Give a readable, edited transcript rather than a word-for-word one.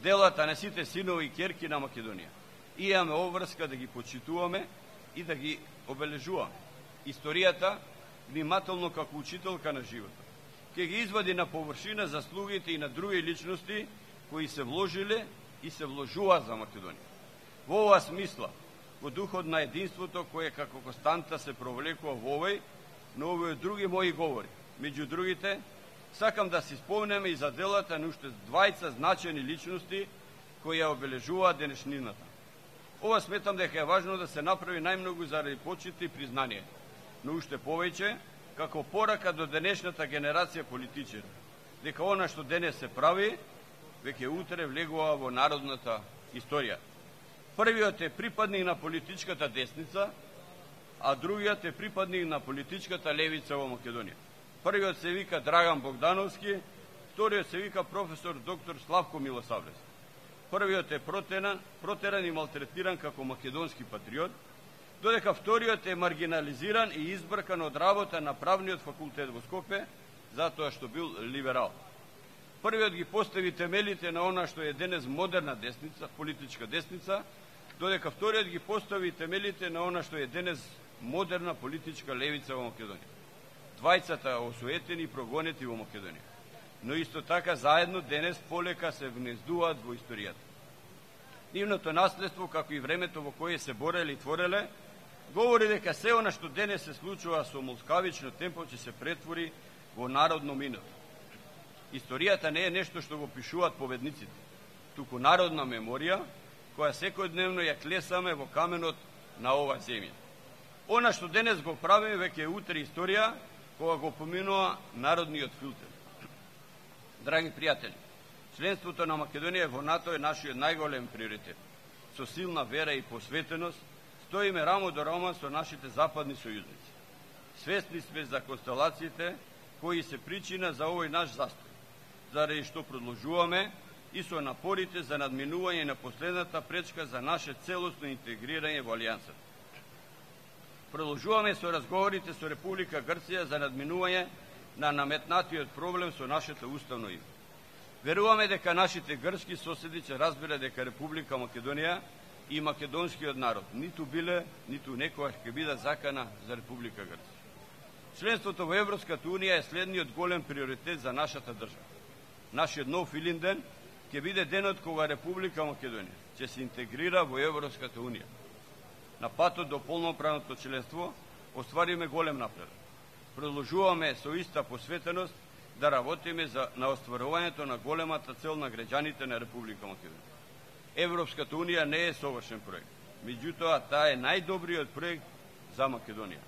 делата на сите синови и ќерки на Македонија. И имаме обврска да ги почитуваме и да ги обележуваме. Историјата, внимателно како учителка на животот, ќе ги извади на површина заслугите и на други личности кои се вложиле и се вложува за Македонија. Во оваа смисла, во духот на единството кое како константа се провлекува во овој, но овој други мои говори. Меѓу другите, сакам да си спомнеме и за делата на уште двајца значени личности кои ја обележуваат денешнината. Ова сметам дека е важно да се направи најмногу заради почит и признание, но уште повеќе како порака до денешната генерација политичари, дека она што денес се прави, веќе утре влегува во народната историја. Првиот е припадник на политичката десница, а другиот е припадник на политичката левица во Македонија. Првиот се вика Драган Богдановски, вториот се вика професор доктор Славко Милосавлевски. Првиот е протеран и малтретиран како македонски патриот, додека вториот е маргинализиран и избркан од работа на правниот факултет во Скопје, затоа што бил либерал. Првиот ги постави темелите на она што е денес модерна десница, политичка десница, додека вториот ги постави темелите на она што е денес модерна политичка левица во Македонија. Двајцата осуетени и прогонети во Македонија, но исто така заедно денес полека се внездуваат во историјата. Нивното наследство, како и времето во кое се бореле и твореле, говори дека се она што денес се случува со молскавично темпо ќе се претвори во народно минато. Историјата не е нешто што го пишуваат победниците, туку народна меморија, која секојдневно ја клесаме во каменот на оваа земја. Она што денес го правиме веќе е утре историја, кога го поминува народниот филтер. Драги пријатели, членството на Македонија во НАТО е нашиот најголем приоритет. Со силна вера и посветеност стоиме рамо до рамо со нашите западни сојузници. Свесни сме за констелациите кои се причина за овој наш застој, заради што продолжуваме и со напорите за надминување на последната пречка за наше целосно интегрирање во Алијансата. Продолжуваме со разговорите со Република Грција за надминување на наметнатиот проблем со нашето уставно име. Веруваме дека нашите грчки соседи ќе разберат дека Република Македонија и македонскиот народ ниту биле, ниту некогаш ќе бидат закана за Република Грција. Членството во Европската унија е следниот голем приоритет за нашата држава. Нашиот нов Илинден ќе биде денот кога Република Македонија ќе се интегрира во Европската унија. На патот до полноправното членство оствариме голем напредок. Продолжуваме со иста посветеност да работиме на остварувањето на големата цел на граѓаните на Република Македонија. Европската унија не е совршен проект, меѓутоа таа е најдобриот проект за Македонија.